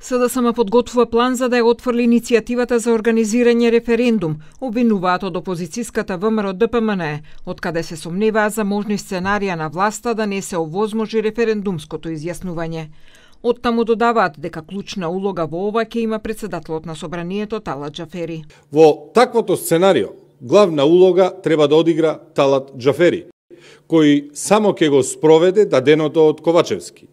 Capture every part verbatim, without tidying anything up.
СДСМ подготвува план за да ја отфрли иницијативата за организирање референдум, обвинуваат од опозицијската ВМРО Д П М Н, од каде се сомневаат за можни сценарија на власта да не се овозможи референдумското изјаснување. Оттаму додаваат дека клучна улога во ова ќе има претседателот на собранието Талат Џафери. Во таквото сценарио, главна улога треба да одигра Талат Џафери, кој само ќе го спроведе даденото од Ковачевски.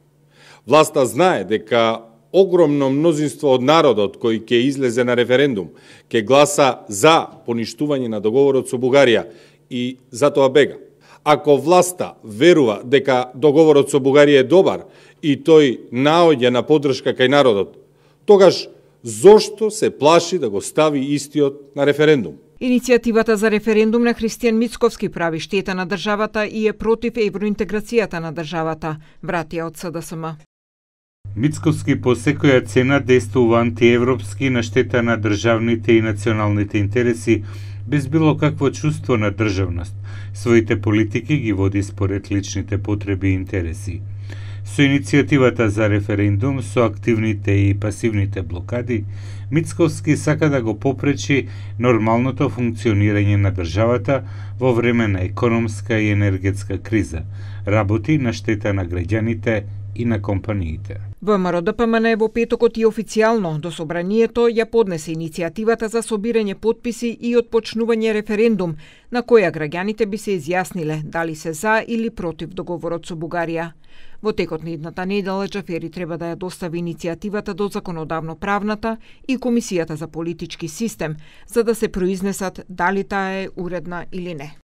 Власта знае дека огромно мнозинство од народот кој ќе излезе на референдум, ќе гласа за поништување на договорот со Бугарија и затоа бега. Ако власта верува дека договорот со Бугарија е добар и тој наоѓа на поддршка кај народот, тогаш зошто се плаши да го стави истиот на референдум? Иницијативата за референдум на Христијан Мицковски прави штета на државата и е против евроинтеграцијата на државата, вратија од СДСМ. Мицковски по секоја цена действува антиевропски на штета на државните и националните интереси, без било какво чувство на државност. Своите политики ги води според личните потреби и интереси. Со иницијативата за референдум, со активните и пасивните блокади, Мицковски сака да го попречи нормалното функционирање на државата во време на економска и енергетска криза, работи на штета на граѓаните и на компаниите. ВМРО Д П М Н во петокот и официјално до собранието ја поднесе иницијативата за собирање потписи и отпочнување референдум, на која граѓаните би се изјасниле дали се за или против договорот со Бугарија. Во текот на идната недела Џафери треба да ја достави иницијативата до законодавно-правната и Комисијата за политички систем, за да се произнесат дали таа е уредна или не.